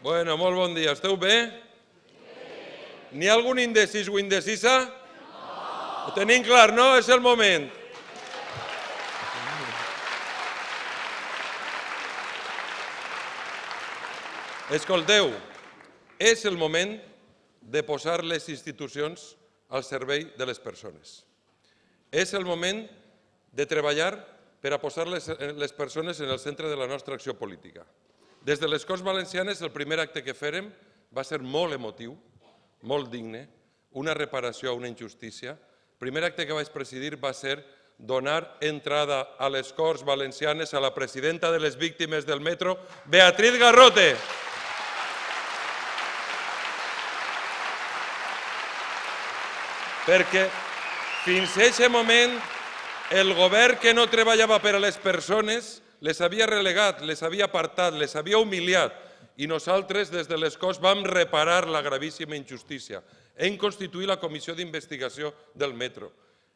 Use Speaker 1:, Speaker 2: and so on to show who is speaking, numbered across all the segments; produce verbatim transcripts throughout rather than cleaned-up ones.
Speaker 1: Bueno, molt bon dia. Esteu bé? N'hi ha algun indecís o indecisa? No. Ho tenim clar, no? És el moment. Escolteu, és el moment de posar les institucions al servei de les persones. És el moment de treballar per a posar les, les persones en el centre de la nostra acció política. Des de les Corts Valencianes, el primer acte que fèrem va ser molt emotiu, molt digne, una reparació a una injustícia. El primer acte que vaig presidir va ser donar entrada a les Corts Valencianes a la presidenta de les víctimes del metro, Beatriz Garrote. Perquè fins a aquest moment el govern que no treballava per a les persones les havia relegat, les havia apartat, les havia humiliat i nosaltres des de les Corts vam reparar la gravíssima injustícia. Hem constituït la comissió d'investigació del metro.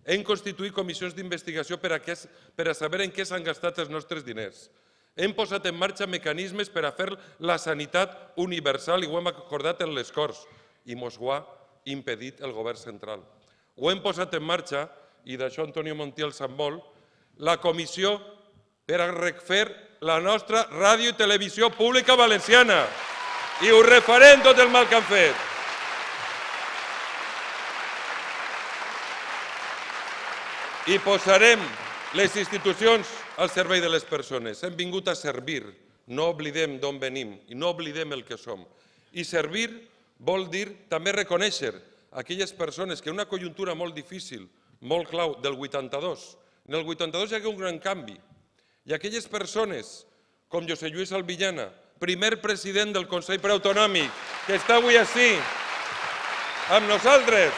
Speaker 1: Hem constituït comissions d'investigació per a saber en què s'han gastat els nostres diners. Hem posat en marxa mecanismes per a fer la sanitat universal i ho hem acordat en les Corts i mos ho ha impedit el govern central. Ho hem posat en marxa, i d'això Antonio Montiel sap molt, la comissió per a refer la nostra ràdio i televisió pública valenciana. I ho refarem tot el mal que han fet. I posarem les institucions al servei de les persones. Hem vingut a servir. No oblidem d'on venim i no oblidem el que som. I servir vol dir també reconèixer aquelles persones que en una conjuntura molt difícil, molt clau, del vuitanta-dos, en el vuitanta-dos hi ha un gran canvi. I aquelles persones, com José Lluís Albillana, primer president del Consell Preautonòmic, que està avui ací, amb nosaltres,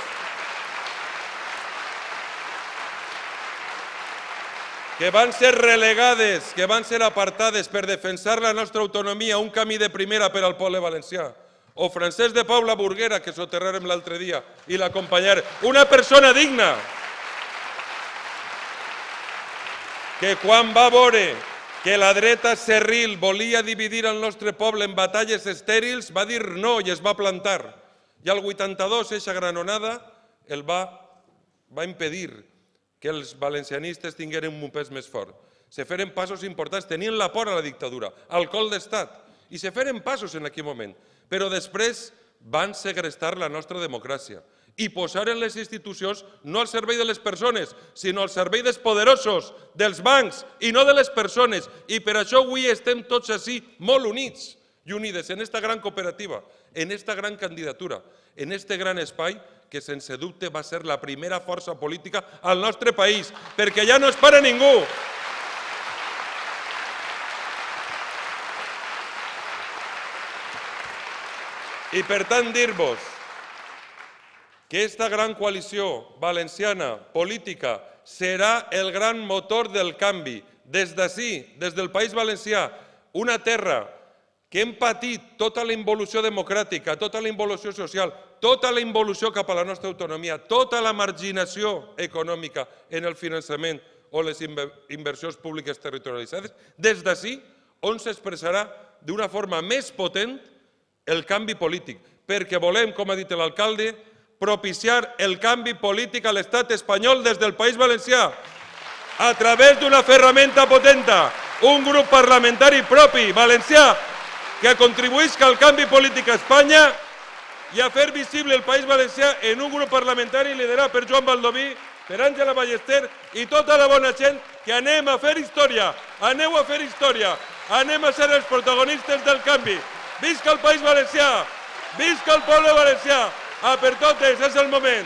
Speaker 1: que van ser relegades, que van ser apartades per defensar la nostra autonomia, un camí de primera per al poble valencià, o Francesc de Paula Burguera, que soterrarem l'altre dia, i l'acompanyar, una persona digna, que quan va veure que la dreta cerril volia dividir el nostre poble en batalles estèrils, va dir no i es va plantar. I al vuitanta-dos, eixa granonada el va impedir que els valencianistes tingueren un pes més fort. Se feren passos importants, tenien la por a la dictadura, al col d'estat, i se feren passos en aquell moment. Però després van segrestar la nostra democràcia i posaren les institucions no al servei de les persones, sinó al servei dels poderosos, dels bancs i no de les persones. I per això avui estem tots així molt units i unides en aquesta gran cooperativa, en aquesta gran candidatura, en aquest gran espai que sense dubte va ser la primera força política al nostre país, perquè ja no es para ningú. I per tant dir-vos que aquesta gran coalició valenciana política serà el gran motor del canvi. Des d'ací, des del País Valencià, una terra que hem patit tota la involució democràtica, tota la involució social, tota la involució cap a la nostra autonomia, tota la marginació econòmica en el finançament o les inversions públiques territorialitzades, des d'ací on s'expressarà d'una forma més potent el canvi polític, perquè volem, com ha dit l'alcalde, propiciar el canvi polític a l'estat espanyol des del País Valencià a través d'una ferramenta potenta, un grup parlamentari propi, valencià, que contribuïsca al canvi polític a Espanya i a fer visible el País Valencià en un grup parlamentari liderat per Joan Baldoví, per Àngela Ballester i tota la bona gent que anem a fer història, aneu a fer història, anem a ser els protagonistes del canvi. Visca el País Valencià! Visca el poble valencià! A per totes, és el moment!